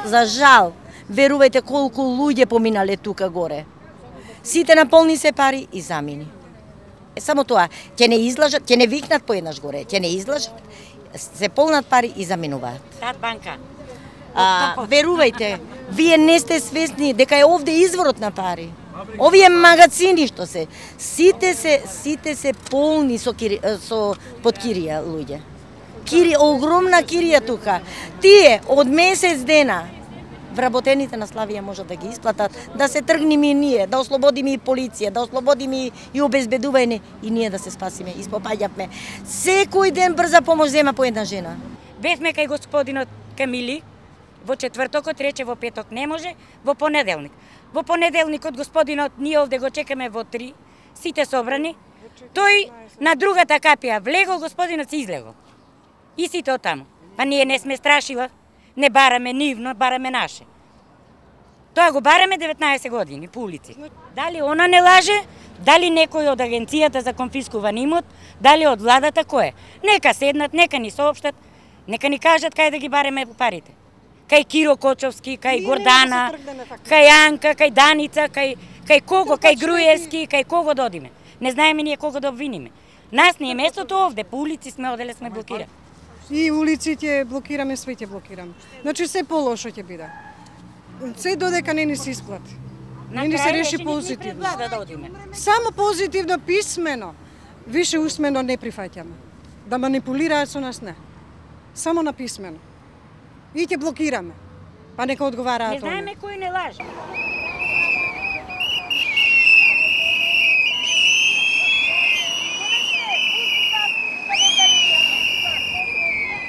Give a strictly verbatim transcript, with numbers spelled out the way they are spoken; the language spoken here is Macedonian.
за жал, верувајте колку луѓе поминале тука горе. Сите наполни се пари и замини. Е, само тоа, ќе не излажат, ќе не викнат поеднаш горе, ќе не излажат, се полнат пари и заминуваат. Тат банка. А, верувајте, вие не сте свесни дека е овде изворот на пари. Овие магазини што се, сите се, сите се полни со, кири, со под кирија луѓе. Кири, огромна кирија тука. Тие од месец дена вработените на Славија можат да ги исплатат, да се тргнеме и ние, да ослободиме и полиција, да ослободиме и обезбедување и ние да се спасиме, испопаѓавме. Секој ден брза помош зема по една жена. Бевме кај господинот Камили, во четвртокот рече во петок не може, во понеделник. Во понеделникот господинот ние овде го чекаме во три, сите собрани. Тој на другата капија влегол, господинот се излегол. И сите оттаму. Па ние не сме страшила, не бараме нивно, бараме наше. Тоа го бараме деветнаесет години по улици. Дали она не лаже, дали некој од агенцијата за конфискуван имот, дали од владата, кој е? Нека седнат, нека ни соопштат, нека ни кажат кај да ги бареме парите. Кај Киро Кочовски, кај Гордана, кај Анка, кај Даница, кај, кај кого, кај Груевски, кај кого да одиме. Не знаеме ние кого да обвиниме. Нас не е местото овде, по улици сме оделе, сме блокирани. И улиците блокираме, све ќе блокираме. Значи се полошо ќе биде. Се додека не ни се исплати. Не ни се реши позитивно. Само позитивно писмено. Више усмено не прифаќаме. Да манипулираат со нас не. Само на писмено. И ќе блокираме. Па нека одговараат. Не знаеме кој не лаже.